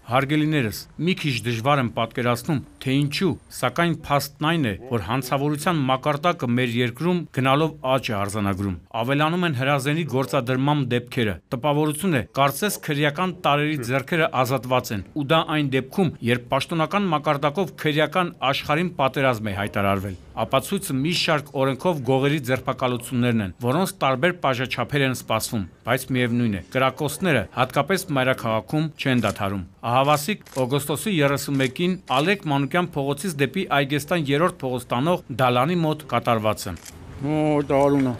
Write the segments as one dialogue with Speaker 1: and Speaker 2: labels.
Speaker 1: Հարգելիներս, մի քիչ դժվար եմ պատկերացնում, թե ինչու, սակայն փաստն այն է, որ հանցավորության մակարդակը մեր երկրում գնալով աճ է արձանագրում։ Ավելանում են հրազենի գործադրման դեպքերը։ Տպավորություն է, կարծես քրեական տարրերի ձեռքերը ազատված են, ու դա այն դեպքում, երբ պաշտոնական մակարդակով քրեական աշխարհին պատերազմ է հայտարարվել։ Ապացույցը մի շարք օրենքով գողերի ձերբակալություններն են, որոնց տարբեր բաժաչափեր են սպասվում, բայց միևնույն է, կրակոցները, հատկապես մայրաքաղաքում, չեն դադարում։ Ահավասիկ օգոստոսի 31-ին Ալեք Մանուկյան փողոցից դեպի Այգեստան 3-րդ փողոց տանող դալանի մոտ կատարված է։
Speaker 2: Դարունա։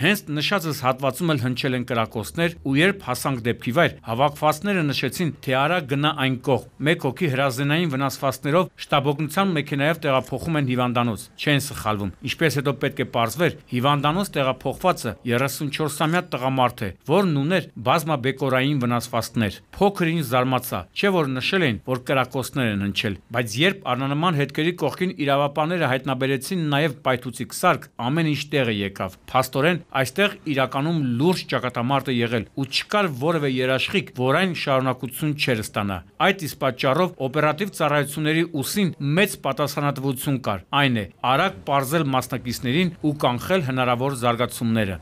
Speaker 1: Հենց նշածս հատվածում էլ հնչել են կրակոցներ, ու երբ հասանք դեպքի վայր, հավաքվածները նշեցին, թե արագ գնա այն կողմ։ Մեկ հոգի հրազենային վնասվածքներով շտաբօգնության մեքենայով տեղափոխում են հիվանդանոց։ Չեն սխալվում։ Ինչպես հետո պետք է պարզվեր, հիվանդանոց տեղափոխվածը 34-ամյա տղամարդ է, որն ուներ բազմաբեկորային վնասվածքներ։ Փոքր ինչ զարմացա, չէ որ նշել էին, որ կրակոցներ են հնչել, բայց երբ առնման հետքերի կողքին իրավապահները հայտնաբերեցին նաև պայթուցիկ սարք, ամեն ինչ տեղը եկավ։ Փաստորեն այստեղ իրականում լուրջ ճակատամարտ է եղել ու չկար որևէ երաշխիք, որ այն շարունակություն չէր ստանա։ Այդ իսկ պատճառով օպերատիվ ծառայությունների ուսին մեծ պատասխանատվություն կար։ Այն է, արագ պարզել մասնակիցներին ու կանխել հնարավոր զարգացումները։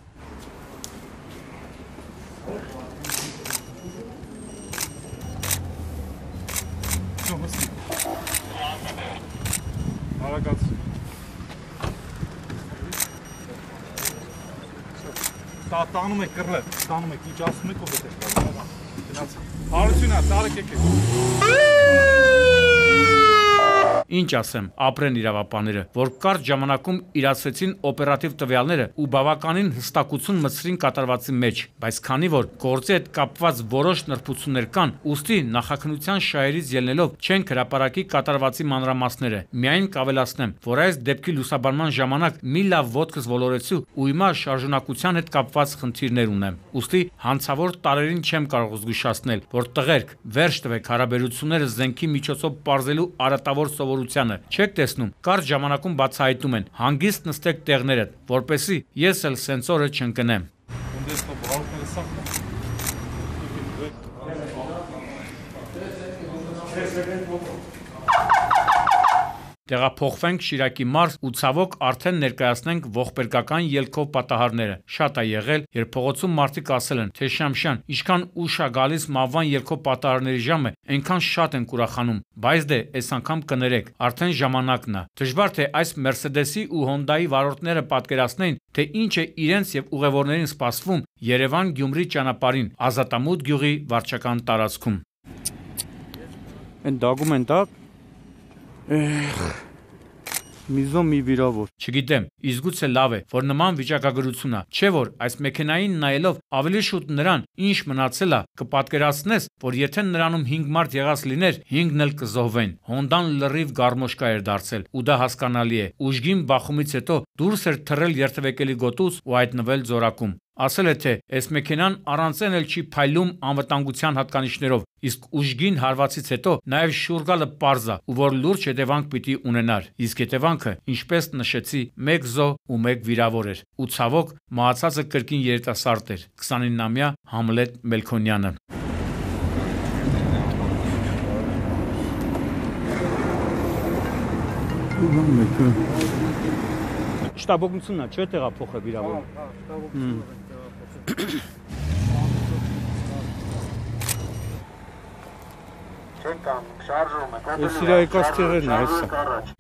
Speaker 2: Տանում եք կռլել, տանում եք, ինչ ասում եք ու պետք է հարությունա, տարեք եկեք։
Speaker 1: Ինչ ասեմ, ապրեն իրավապահները, որ կարճ ժամանակում իրացրեցին օպերատիվ տվյալները ու բավականին հստակություն մտցրին կատարվածի մեջ, բայց քանի որ գործի հետ կապված որոշ նրբություններ կան, ուստի նախաքննության շահերից ելնելով չենք հրապարակի կատարվածի մանրամասները։ Միայն կավելացնեմ, որ այս դեպքի լուսաբանման ժամանակ մի լավ ոտքս ոլորեցի ու հիմա շարժունակության հետ կապված խնդիրներ ունեմ։ Ուստի հանցավոր տարերին չեմ կարող զգուշացնել, որ տղերք, վերջ տվեք հարաբերությունները զենքի միջոցով պարզելու արատավոր սովորությանը։ Չեք տեսնում, կարճ ժամանակում բացահայտում են, հանգիստ նստեք տեղներդ, որպեսզի ես էլ սենսորը չընկնեմ։ Տեղափոխվենք Շիրակի մարզ ու ցավոք արդեն ներկայացնենք ողբերգական ելքով պատահարները։ Շատ է եղել, երբ փողոցում մարդիկ ասել են, թե Շամշյան, ինչքան ուշ է գալիս մահվան ելքով պատահարների ժամը, այնքան շատ ենք ուրախանում, բայց դե այս անգամ կներեք, արդեն ժամանակն է։ Դժվար թե այս Մերսեդեսի ու Հոնդայի վարորդները պատկերացնեին, թե ինչ է իրենց եւ ուղևորներին սպասվում Երևան-Գյումրի ճանապարհին, Ազատամուտ գյուղի վարչական տարածքում։
Speaker 2: Են դագում են տա։ Միզոն մի վիրավոր։
Speaker 1: Չգիտեմ, իսկ գուցե լավ է, որ նման վիճակագրություն է, չէ որ այս մեքենային նայելով ավելի շուտ նրան, ինչ մնացել է, կպատկերացնես, որ եթե նրանում 5 մարդ եղած լիներ, 5-ն էլ կզոհվեն։ Հոնդան լրիվ գարմոշկա էր դարձել, ու դա հասկանալի է։ Ուժգին բախումից հետո դուրս էր թռել երթևեկելի գոտուց ու հայտնվել ձորակում։ Ասել է, թե այս մեքենան առանց էլ չի փայլում անվտանգության հատկանիշներով, իսկ ուժգին հարվածից հետո նաև շուրգալը պարզ է, ու որ լուրջ հետևանք պիտի ունենար։ Իսկ հետևանքը, ինչպես նշեցի, 1 զոհ ու 1 վիրավոր էր։ Ու ցավոք, մահացածը կրկին երիտասարդ էր, 29-ամյա Համլետ Մելքոնյանը։ Շտաբօգնությունն է, չէ՞ տեղափոխը վիրավոր։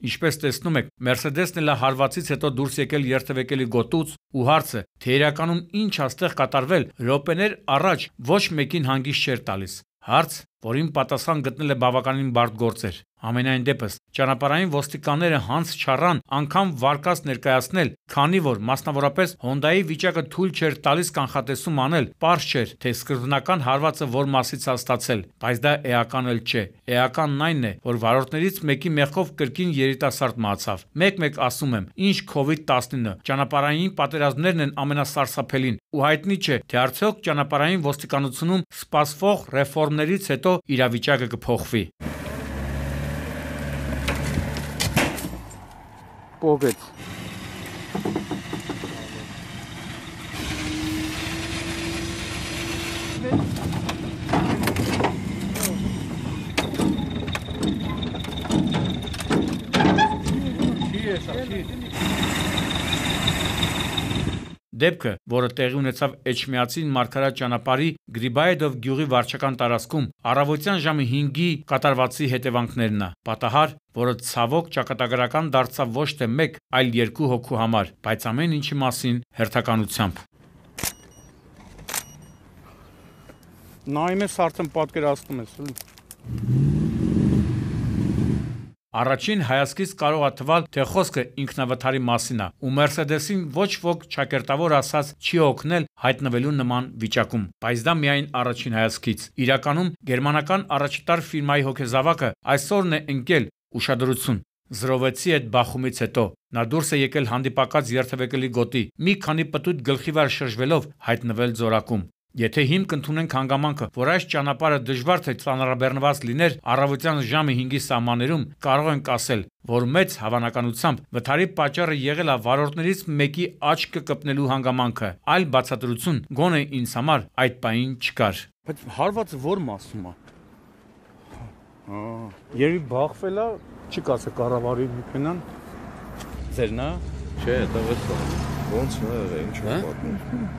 Speaker 1: Ինչպես տեսնում եք, Մերսեդեսն էլ հարվածից հետո դուրս եկել երթևեկելի գոտուց ու հարցը, թե իրականում ինչ աստեղ կատարվել, րոպեներ առաջ ոչ մեկին հանգիստ չէր տալիս։ Հարց, որին պատասխան գտնել է բավականին բարդ գործեր։ Ամենայն դեպս, ճանապարհային ոստիկանները հանց չառան անգամ վարկած ներկայացնել, քանի որ մասնավորապես Հոնդայի վիճակը թույլ չէր տալիս կանխատեսում անել, պարզ չէր, թե սկզբնական հարվածը որ մասից է ստացել, բայց դա էական էլ չէ։ Էականն այն է, որ վարորդներից մեկի մեղքով կրկին երիտասարդ մահացավ։ Մեկ-մեկ ասում եմ, ինչ COVID-19, ճանապարհային պատերազմներն են ամենասարսափելին, ու հայտնի չէ, թե արդյոք ճանապարհային ոստիկանությունում սպասվող ռեֆորմներից հետո իրավիճակը կփոխվի։ Պողեց։ Դեպքը, որը տեղի ունեցավ Էջմիածին Մարգարատ ճանապարհի Գրիբայեդով գյուղի վարչական տարածքում, առավոտյան ժամը 5-ի կատարվածի հետևանքներն է։ Պատահար, որը ցավոք ճակատագրական դարձավ ոչ թե 1, այլ 2 հոգու համար, բայց ամեն ինչի մասին հերթականությամբ։
Speaker 2: Նայում ես արդեն պատկերացնում ես, էլի։
Speaker 1: Առաջին հայացքից կարող է թվալ, թե խոսքը ինքնավթարի մասին է, ու Մերսեդեսին ոչ ոք ճակերտավոր ասած չի օգնել հայտնվելու նման վիճակում, բայց դա միայն առաջին հայացքից։ Իրականում գերմանական առաջատար ֆիրմայի հոգեզավակը այսօրն է ընկել ուշադրություն։ Զրովեցի այդ բախումից հետո նա դուրս է եկել հանդիպակաց երթևեկելի գոտի, մի քանի պտույտ գլխի վրա շրջվելով հայտնվել ձորակում։ Եթե հիմք ընդունենք հանգամանքը, որ այս ճանապարհը դժվար թե ծանրաբեռնված լիներ առավոտյան ժամը 5-ի սահմաններում, կարող ենք ասել, որ մեծ հավանականությամբ վթարի պատճառը եղել է վարորդներից մեկի աչքը կպնելու հանգամանքը, այլ բացատրություն գոնե ինձ համար այդ պահին չկար։
Speaker 2: Բայց հարվածը որ մասում է։ Երևի բախվել է, չի կասե կառավարի մեքենան։ Ձերն է։
Speaker 3: Չէ, տվեց ոնց է, ինչ է պատմում։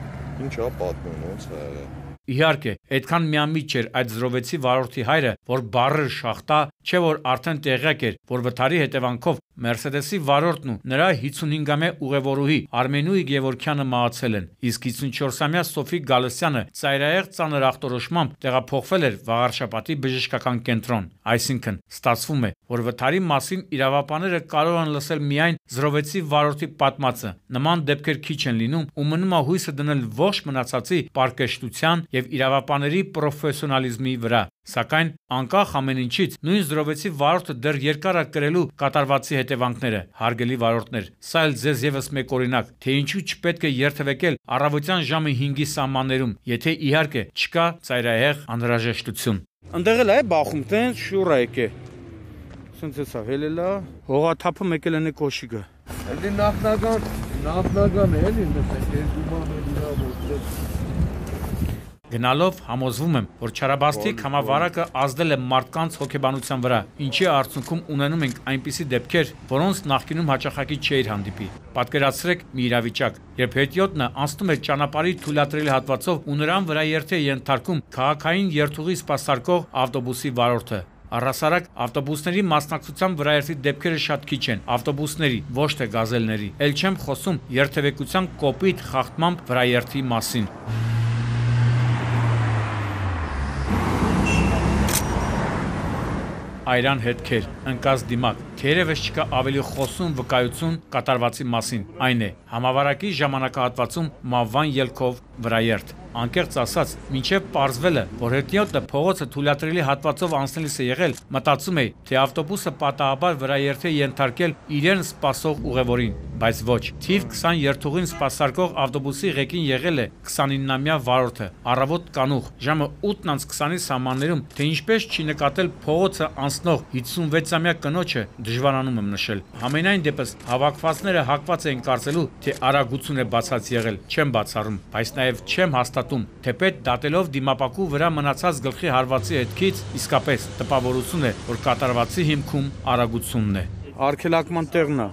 Speaker 3: Ինչ է պատմում, ոնց է եղել։
Speaker 1: Իհարկե, այդքան միամիտ չէր այդ զրովեցի վարորդի հայրը, որ բառը շախտա, չէ որ արդեն տեղյակ էր, որ վթարի հետևանքով Մերսեդեսի վարորդն ու նրա 55-ամյա ուղևորուհի Արմենուի Գևորքյանը մահացել են, իսկ 54-ամյա Սոֆի Գալստյանը ծայրահեղ ծանր ախտորոշմամբ տեղափոխվել էր Վաղարշապատի բժշկական կենտրոն։ Այսինքն, ստացվում է, որ վթարի մասին իրավապանները կարող են լսել միայն զրովեցի վարորդի պատմածը։ Նման դեպքեր քիչ են լինում ու մնում է հույսը դնել ողջ մնացածի պարկեշտության եւ իրավապաների պրոֆեսիոնալիզմի վրա։ Սակայն անկախ ամեն ինչից նույն զրովեցի վարորդը դեռ երկար է կրելու կատարվածի հետևանքները, հարգելի վարորդներ։ Սա էլ ձեզ եւս մեկ օրինակ, թե ինչու չպետք է երթևեկել առավոտյան ժամը 5-ի սահմաններում, եթե իհարկե չկա ծայրահեղ անհրաժեշտություն։
Speaker 2: Ընդեղ էլ է բախում, տենց շուռ է եկե։ Սենց էսա հելելա, հողաթափը մեկել են կոշիկը։
Speaker 3: Էլի նախնական է, էլի նստեք, երկու բան է իրավոց։
Speaker 1: Գնալով համոզվում եմ, որ Չարաբաստիկ համավարակը ազդել է մարդկանց հոգեբանության վրա, ինչի արդյունքում ունենում ենք այնպիսի դեպքեր, որոնց նախկինում հաճախակի չէր հանդիպի։ Պատկերացրեք մի իրավիճակ, երբ հետիոտնը անցնում է ճանապարհի թույլատրելի հատվածով ու նրան վրա երթ է ենթարկում քաղաքային երթուղի սպասարկող ավտոբուսի վարորդը։ Առհասարակ ավտոբուսների մասնակցության վրաերթի դեպքերը շատ քիչ են, ավտոբուսների, ոչ թե գազելների։ Էլ չեմ խոսում երթևեկության կոպիտ խախտմամբ վրաերթի մասին։ Այրան հետքեր, ընկած դիմակ, թերևս չկա ավելի խոսուն վկայություն կատարվածի մասին, այն է, համավարակի ժամանակահատվածում մավան ելքով վրաերթ։ Անկեղծ ասած, մինչև պարզվել է, որ հետիոտնը փողոցը թույլատրելի հատվածով անցնելիս է եղել, մտածում է, թե ավտոբուսը պատահաբար վրաերթ է ենթարկել իրեն սպասող ուղևորին, բայց ոչ, թիվ 20 երթուղին սպասարկող ավտոբուսի ղեկին եղել է 29-ամյա վարորդը, առավոտ կանուխ, ժամը 8:20-ի սահմաններում, թե ինչպես չի նկատել փողոցը անցնող 56-ամյա կնոջը, դժվարանում եմ նշել։ Համենայն դեպս հավաքվածները հակված էին կարծելու, թե արագություն է բացած եղել, չեմ բացառում, բայց նաև չեմ հաստատում, թեպետ դատելով դիմապակու վրա մնացած գլխի հարվածի հետքից, իսկապես տպավորություն է, որ կատարվածի հիմքում արագությունն է։
Speaker 2: Արգելակման տեղն է։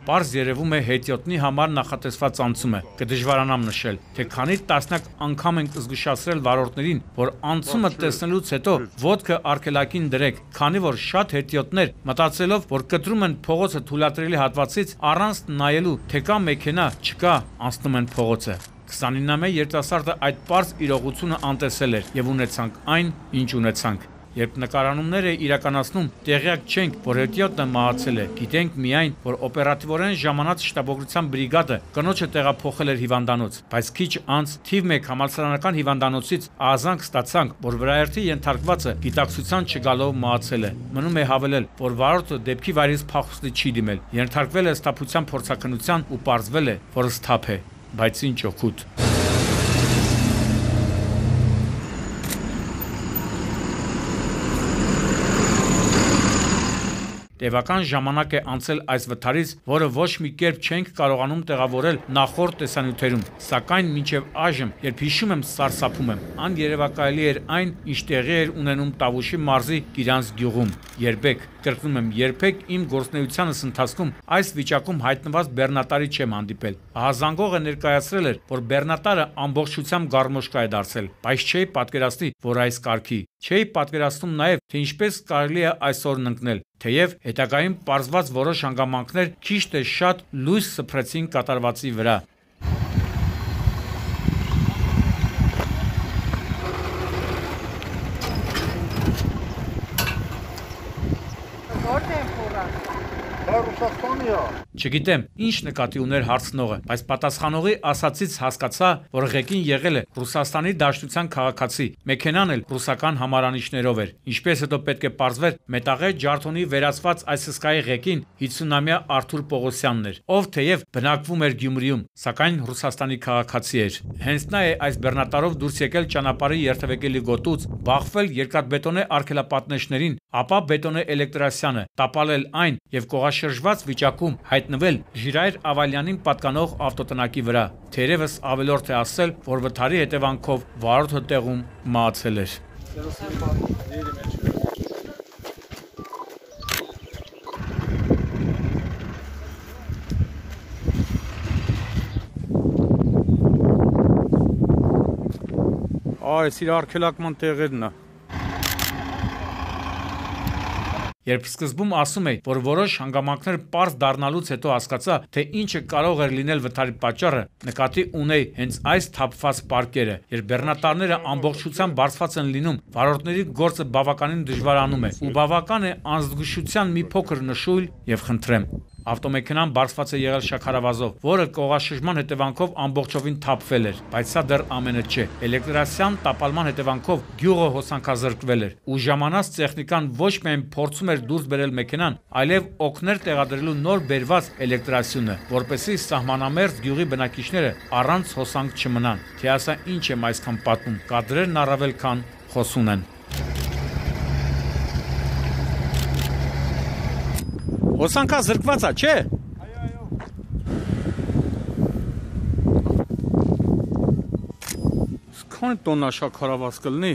Speaker 1: Պարզ երևում է հետիոտնի համար նախատեսված անցումը, կդժվարանամ նշել, թե քանի տասնյակ անգամ ենք զգուշացրել վարորդներին, որ անցումը տեսնելուց հետո ոտքը արգելակին դրեք, քանի որ շատ հետիոտներ մտածելով, որ կտրում են փողոցը թույլատրելի հատվածից առանց նայելու, թե կա մեքենա, չկա, անցնում են փողոցը։ 29-ամյա երիտասարդը այդ պարզ իրողությունը անտեսել էր եւ ունեցանք այն, ինչ ունեցանք։ Երբ նկարանումներ է իրականացնում, տեղյակ չենք, որ հետիոտը մահացել է։ Գիտենք միայն, որ օպերատիվորեն ժամանած շտաբօգնության բրիգադը կնոջը տեղափոխել էր հիվանդանոց, բայց քիչ անց թիվ 1 համալսարանական հիվանդանոցից ահազանգ ստացանք, որ վրայերթի ենթարկվածը գիտակցության չգալով մահացել է։ Մնում է հավելել, որ վարորդը դեպքի վայրից փախուստի չի դիմել, ենթարկվել է սթափության փորձաքննության ու պարզվել է, որ սթափ է, բայց ինչ օգուտ։ Տևական ժամանակ է անցել այս վթարից, որը ոչ մի կերպ չենք կարողանում տեղավորել նախորդ տեսանյութերում, սակայն մինչև այժմ, երբ հիշում եմ, սարսափում եմ, աներևակայելի էր այն, ինչ տեղի էր ունենում Տավուշի մարզի Գիրանց գյուղում։ Երբեք, կրկնում եմ, երբեք իմ գործունեությանս ընթացքում այս վիճակում հայտնված բեռնատարի չեմ հանդիպել։ Ահազանգողը ներկայացրել էր, որ բեռնատարը ամբողջությամբ գարմոշկա է դարձել, բայց չէի պատկերացնի, որ այս կարգի։ Չէի պատկերացնում նաև, թե ինչպես կարելի է այսօրն ընկնել, թեև հետագայում պարզված որոշ հանգամանքներ քիչ թե շատ լույս սփռեցին կատարվածի վրա։ Չգիտեմ, ինչ նկատի ուներ հարցնողը, բայց պատասխանողի ասացից հասկացա, որ ղեկին եղել է Ռուսաստանի Դաշնության քաղաքացի, մեքենան էլ ռուսական համարանիշներով էր, ինչպես հետո պետք է պարզվեր, մետաղե ջարդոնի վերացված այս հսկայի ղեկին 50-ամյա Արթուր Պողոսյանն էր, ով թեև բնակվում էր Գյումրիում, սակայն Ռուսաստանի քաղաքացի էր։ Հենց նա է այս բեռնատարով դուրս եկել ճանապարհի երթևեկելի գոտուց, բախվել երկաթբետոնե արգելապատնեշներին, ապա բետոնե էլեկտրասյանը, տապալել այն եւ կողաշրջված վիճակում հայտնվել Ժիրայր Ավալյանին պատկանող ավտոտնակի վրա։ Թերևս ավելորդ է ասել, որ վթարի հետևանքով վարորդը տեղում մահացել էր։
Speaker 2: Այս իր արգելակման տեղերն է։
Speaker 1: Երբ սկզբում ասում էի, որ որոշ հանգամանքներ պարզ դառնալուց հետո հասկացա, թե ինչը կարող էր լինել վթարի պատճառը, նկատի ունեի հենց այս թափված պարկերը, երբ բեռնատարները ամբողջությամբ բարձված են լինում, վարորդների գործը բավականին դժվարանում է, ու բավական է անզգուշության մի փոքր նշույլ եւ խնդրեմ։ Ավտոմեքենան բարձված է եղել շաքարավազով, որը կողաշրջման հետևանքով ամբողջովին թափվել էր, բայց սա դեռ ամենը չէ։ Էլեկտրասյան տապալման հետևանքով գյուղը հոսանքազրկվել էր, ու ժամանած տեխնիկան ոչ միայն փորձում էր դուրս բերել մեքենան, այլև օգներ տեղադրելու նոր բերված էլեկտրասյունը, որպեսզի սահմանամերձ գյուղի բնակիչները առանց հոսանք չմնան։ Թե ասա ինչ եմ այսքան պատմում, կադրերն առավել քան խոսուն են։
Speaker 2: Հոսանքա զրկված է, չէ։ Քանի տոննա շաքարավազ կլինի։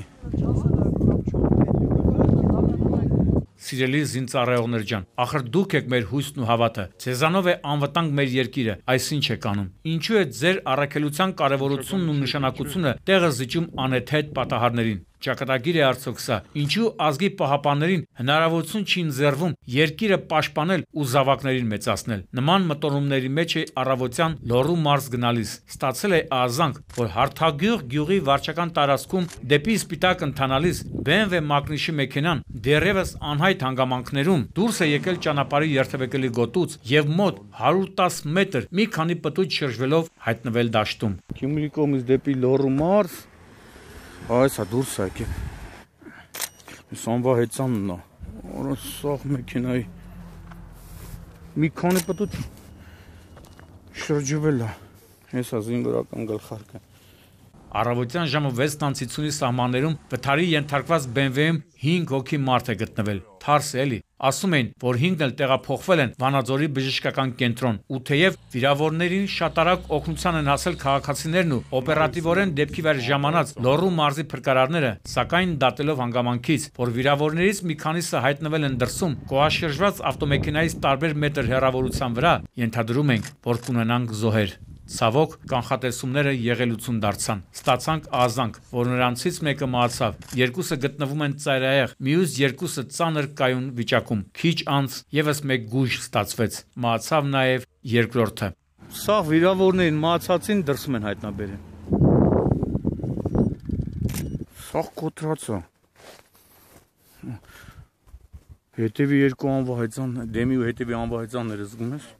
Speaker 1: Սիրելի զինծառայողներ ջան, ախր դուք եք մեր հույսն ու հավատը։ Ձեզանով է անվտանգ մեր երկիրը, այսինչ է կանում։ Ինչու է ձեր առաքելության կարևորությունն ու նշանակությունը տեղը զիջում անհեթեթ պատահարներին։ Ճակատագիր է արդյոք սա։ Ինչու ազգի պահապաններին հնարավորություն չի ընձեռվում երկիրը պաշտպանել ու զավակներին մեծացնել։ Նման մտորումների մեջ է առավոտյան Լոռու մարզ գնալիս։ Ստացել է ահազանգ, որ Հարթագյուղ գյուղի վարչական տարածքում դեպի Սպիտակ ընթանալիս BMW մակնիշի մեքենան դեռևս անհայտ հանգամանքներում դուրս է եկել ճանապարհի երթևեկելի գոտուց եւ մոտ 110 մետր մի քանի պտույտ շրջվելով հայտնվել դաշտում։
Speaker 2: Գյումրի կողմից դեպի Լոռու մարզ Այս է դուրս է եկել։ Սանվա հեծանն է։ Օր սաղ մեքենայի մի քանի պտույտ շրջվել է։ Հեսա զինվորական գլխարկը։
Speaker 1: Առավոտյան ժամը 6:50-ի սահմաններում վթարի ենթարկված BMW-ում 5 հոգի մարդ է գտնվել։ Թարս է էլի։ Ասում էին, որ 5-ն էլ տեղափոխվել են Վանաձորի բժշկական կենտրոն, ու թեև վիրավորներին շատ արագ օգնության են հասել քաղաքացիներն ու օպերատիվորեն դեպքի վեր ժամանած Լոռու մարզի փրկարարները, սակայն դատելով հանգամանքից, որ վիրավորներից մի քանիսը հայտնվել են դրսում, կողաշրջված ավտոմեքենայից տարբեր մետր հեռավորության վրա, ենթադրում ենք, որ կունենանք զոհեր։ Ցավոք, կանխատեսումները եղելություն դարձան։ Ստացանք ահազանգ, որ նրանցից մեկը մահացավ, երկուսը գտնվում են ծայրահեղ, մյուս երկուսը ծանր կայուն վիճակում։ Քիչ անց եւս մեկ գույժ ստացվեց։ Մահացավ նաեւ երկրորդը։
Speaker 2: Սաղ վիրավորներին մահացածին դրսում են հայտնաբերել։ Սաղ կոտրացա։ Հետևի երկու անվահայցան, դեմի ու հետևի անվահայցանները զգում ես։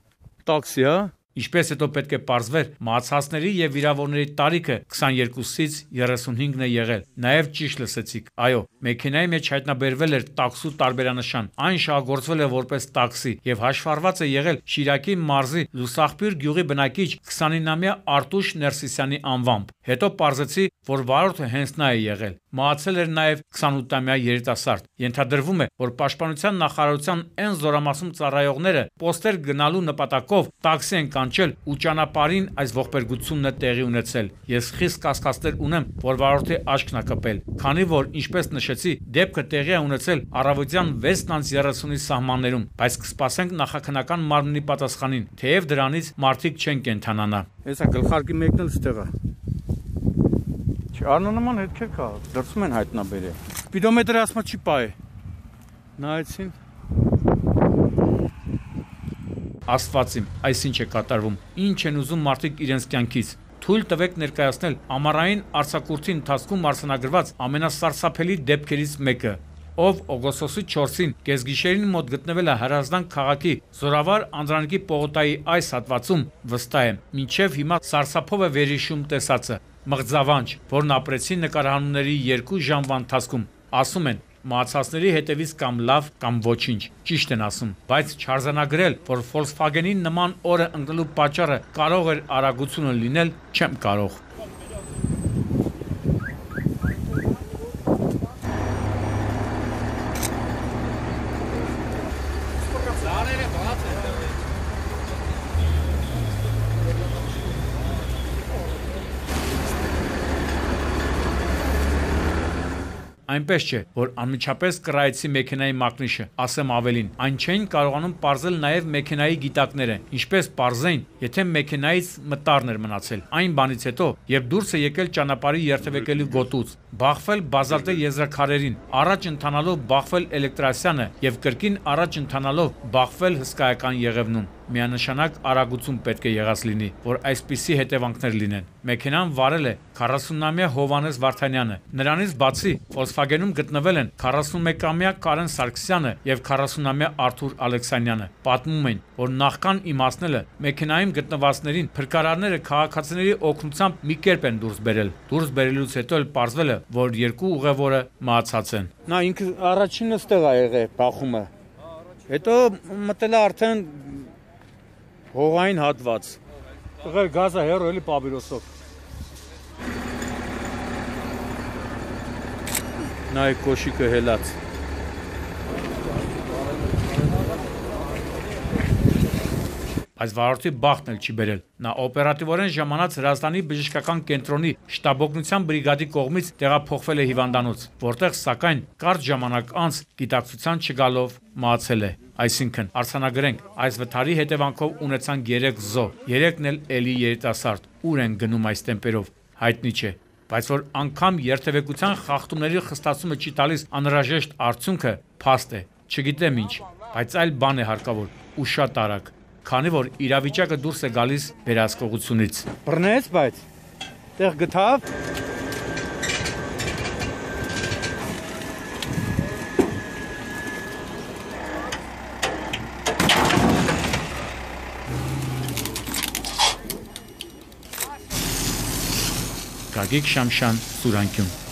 Speaker 2: Տաքսի, հա։
Speaker 1: Ինչպես հետո պետք է պարզվեր, մահացածների եւ վիրավորների տարիքը 22-ից 35-ն է եղել։ Նաեւ ճիշտ լսեցիք։ Այո, մեքենայի մեջ հայտնաբերվել էր տաքսու տարբերանշան։ Այն շահագործվել է որպես տաքսի եւ հաշվառված է եղել Շիրակի մարզի Լուսախբյուր գյուղի բնակիչ 29-ամյա Արտուշ Ներսիսյանի անվամբ։ Հետո պարզեցի, որ վարորդը հենց նա է եղել։ Մահացել էր նաեւ 28-ամյա երիտասարդ։ Ենթադրվում է, որ Պաշտպանության նախարարության այն զորամասում ծառայողները պոստեր գնալու նպատակով տաքսի են կանչել ու ճանապարհին այս ողբերգությունն է տեղի ունեցել։ Ես խիստ կասկածներ ունեմ, որ վարորդի աչքն է կպել, քանի որ, ինչպես նշեցի, դեպքը տեղի է ունեցել առավոտյան 6:30-ի սահմաններում, բայց կսպասենք նախաքննական մարմնի պատասխանին, թեև դրանից մարդիկ չեն կենթանանա։
Speaker 2: Հեսա գլխարկի մեկն էլ ստեղ է։ Չառնանման հետքեր կա, դրսում են հայտնաբերել։ Սպիդոմետրը ասма չի պայ։ Նայեցին։
Speaker 1: Աստվածիմ, այսինչ է կատարվում։ Ինչ են ուզում մարդիկ իրենց կյանքից։ Թույլ տվեք ներկայացնել ամառային արձակուրդի ընթացքում արձանագրված ամենասարսափելի դեպքերից մեկը, ով օգոստոսի 4-ին կեսգիշերին մոտ գտնվել է Հրազդան քաղաքի Զորավար Անդրանիկի պողոտայի այս հատվածում, վստահ եմ, մինչև հիմա սարսափով է վերհիշում տեսածը։ Մղձավանջ, որն ապրեցին նկարահանումների 2 ժամվա ընթացքում, ասում են, մահացածների հետևից կամ լավ, կամ ոչինչ, ճիշտ են ասում, բայց չարձանագրել, որ Volkswagen-ի նման օրը ընկնելու պատճառը կարող էր արագությունը լինել, չեմ կարող։ Այնպես չէ, որ անմիջապես կռայեցի մեքենայի մակնիշը, ասեմ ավելին, այն չէին կարողանում պարզել նաև մեքենայի գիտակները, ինչպես պարզեին, եթե մեքենայից մտարն էր մնացել։ Այն բանից հետո, երբ դուրս է եկել ճանապարհի երթևեկելու գոտուց, բախվել բազալտե եզրաքարերին, առաջ ընթանալով բախվել Էլեկտրասյանը եւ կրկին առաջ ընթանալով բախվել հսկայական Եղևնուն։ Միանշանակ արագություն պետք է եղած լինի, որ այսպիսի հետևանքներ լինեն։ Մեքենան վարել է 40-ամյա Հովանես Վարդանյանը։ Նրանից բացի Volkswagen-ում գտնվել են 41-ամյա Կարեն Սարգսյանը եւ 40-ամյա Արթուր Ալեքսանյանը։ Պատմում են, որ նախքան իմացնելը մեքենայում գտնվածներին փրկարարները քաղաքացիների օգնությամբ մի կերպ են դուրս բերել։ Դուրս բերելուց հետո էլ պարզվել է, որ երկու ուղևորը մահացած են։
Speaker 2: Նա ինքը առաջինը ստեղ է եղել բախումը։ Հետո մտել է արդեն հողային հատված։ Տղեր գազը հեռու էլի պաբիրոսով։ Նա է կոշիկը հելած։
Speaker 1: Բայց վարորդի բախտն էլ չի բերել։ Նա օպերատիվորեն ժամանած Հրազդանի բժշկական կենտրոնի շտաբօգնության բրիգադի կողմից տեղափոխվել է հիվանդանոց, որտեղ սակայն կարճ ժամանակ անց գիտակցության չգալով մահացել է։ Այսինքն, արձանագրենք, այս վթարի հետևանքով ունեցան 3 զոհ, 3-ն էլ էլի երիտասարդ։ Ուր են գնում այս տեմպերով, հայտնի չէ։ Բայց որ անգամ երթևեկության խախտումների խստացումը չի տալիս անհրաժեշտ արդյունքը, փաստ է։ Չգիտեմ ինչ, բայց այլ բան է հարկավոր ու շատ արագ, քանի որ իրավիճակը դուրս է գալիս վերահսկողությունից։
Speaker 2: Բռնեց, բայց տեղ գտավ։
Speaker 1: Գագիկ Շամշան, Սուրանկյուն։